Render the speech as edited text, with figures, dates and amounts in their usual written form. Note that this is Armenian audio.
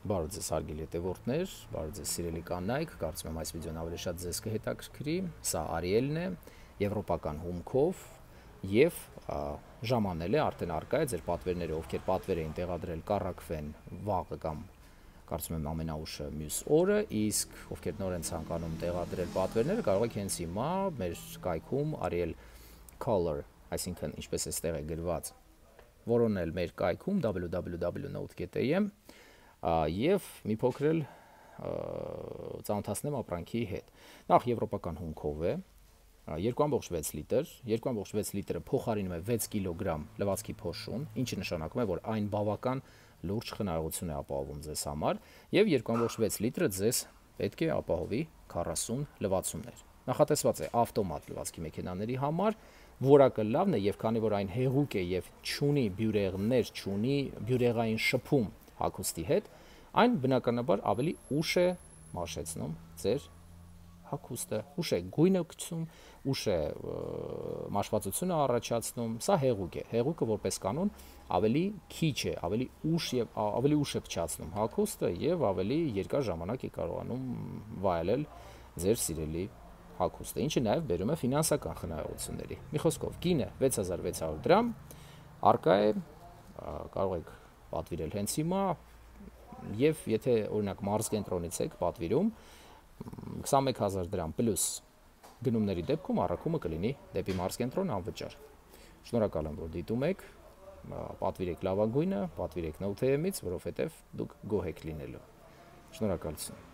Բարև ձեզ հարգելի հետևորդներ, բարև ձեզ սիրելի կանայք, կարծում եմ այս վիդեոն ավելի շատ ձեզ կհետաքրքրի։ Սա Ariel-ն է, եվրոպական հումքով եւ ժամանել է, արդեն արկա է ձեր պատվերները, ովքեր պատվեր էին տեղադրել, կառակվեն վաղը կամ կարծում եմ ամենաուշը մյուս օրը, իսկ ովքեր նոր են ցանկանում տեղադրել պատվերները, կարող եք հենց հիմա մեր կայքում Ariel Color, այսինքն ինչպես էստեղ է գրված, որոնել մեր կայքում www.note.am եւ մի փոքր էլ ծանոթացնեմ ապրանքի հետ։ Նախ եվրոպական հումքով է, 2.6 լիտր, 2.6 լիտրը փոխարինում է 6 կիլոգրամ լվացքի փոշուն, ինչը նշանակում է, որ այն բավական լուրջ խնայողություն է ապահովում ձեզ համար, եւ 2.6 լիտրը ձեզ պետք է ապահովի 40 լվացումներ։ Նախատեսված է ավտոմատ լվացքի մեքենաների համար, որակը լավն է, եւ քանի որ այն հեղուկ է եւ չունի բյուրեղներ, չունի բյուրեղային շփում հագուստի հետ, այն բնականաբար ավելի ուշ է մաշեցնում ձեր հագուստը, ուշ է գույնը գցում, ուշ է մաշվածությունը առաջացնում, սա հեղուկ է, հեղուկը որպես կանոն ավելի քիչ է, ավելի ուշ է փչացնում հագուստը եւ ավելի երկար ժամանակ է կարողանում վայելել ձեր սիրելի հագուստը, ինչը նաեւ բերում է ֆինանսական խնայողությունների։ Մի խոսքով, գինը 6600 դրամ, արկա է, կարող եք պատվիրել հենց հիմա, եւ եթե օրինակ մարզկենտրոնից եք պատվիրում 21000 դրամ պլյուս գնումների դեպքում առաքումը կլինի դեպի մարզկենտրոն անվճար։ Շնորհակալ եմ, որ դիտում եք, պատվիրեք լավագույնը, պատվիրեք Note.am-ից, որովհետեւ դուք գոհ եք լինելու։ Շնորհակալություն։